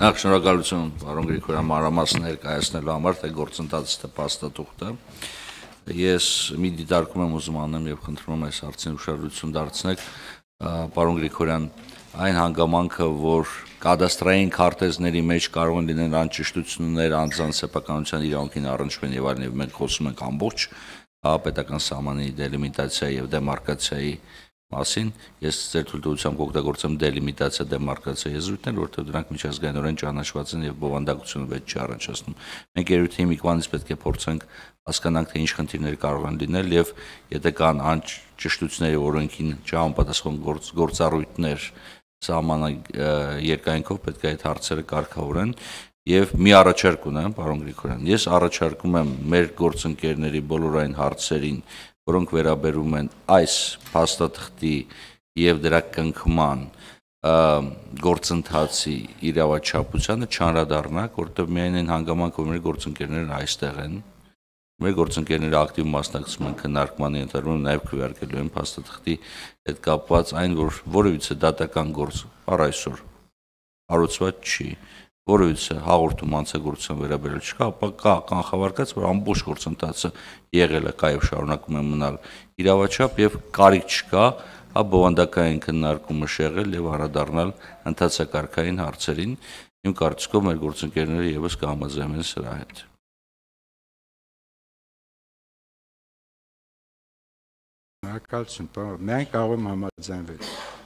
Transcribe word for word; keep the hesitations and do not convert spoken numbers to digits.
Նախ շնորհակալություն պարոն Գրիգորյան մանրամասն ներկայացնելու համար, թե գործընթացը թե փաստաթուղթը։ Ես մի դիտարկում եմ ուզում անեմ եւ խնդրում եմ այս հարցին ուշադրություն դարձնեք, պարոն Գրիգորյան, այն հանգամանքը, որ կադաստրային քարտեզների մեջ կարող են լինել անճշտություններ, անձանց սեփականության իրավունքին առնչվեն եւ այլն, եւ մենք խոսում ենք ամբողջ պետական սահմանի դելիմիտացիայի եւ դեմարկացիայի մասին, ես ձեր թույլտվությամբ կօգտագործեմ դելիմիտացիա դեմարկացիա եզրույթներ, որտեղ դրանք միջազգայինորեն ճանաչված են եւ բովանդակությունը վեճ չի առնչացնում։ Մենք երույթի հիմիկվանից պետք է փորձենք հասկանանք, թե ինչ խնդիրներ կարող են լինել եւ եթե կան անճշտությունների օրենքին չհամապատասխան գործառույթներ սահմանը երկայնքով պետք է այդ հարցերը կարգավորեն եւ մի առաջարկ ունեմ, պարոն Գրիգորյան, ես առաջարկում եմ մեր գործընկերների բոլոր այն հարցերին, որոնք վերաբերում են այս փաստաթղթի եւ դրա կնքման գործընթացի իրավաչափությանը չանդրադառնանք, որտեղ միայն այն հանգամանքը, որ մեր գործընկերներն այստեղ են, մեր գործընկերները ակտիվ մասնակցում են քննարկմանը, ընտրվում նաեւ քվեարկելու են փաստաթղթի հետ կապված այն, որ որևիցե դատական գործ առ այսօր հարուցված չի, որևիցե հաղորդում անձնագործության վերաբերյալ չկա, ապա կա կանխավարկած, որ ամբողջ գործընթացը եղել է, կա եւ շարունակում է մնալ իրավաչափ եւ կարիք չկա, հա բովանդակային քննարկումը շեղել եւ անդրադառնալ ընթացակարգային հարցերին, իմ կարծիքով մեր գործընկերները եւս կհամաձայնեն սրա հետ։ Շնորհակալություն, մենք կարող եմ համաձայնվել։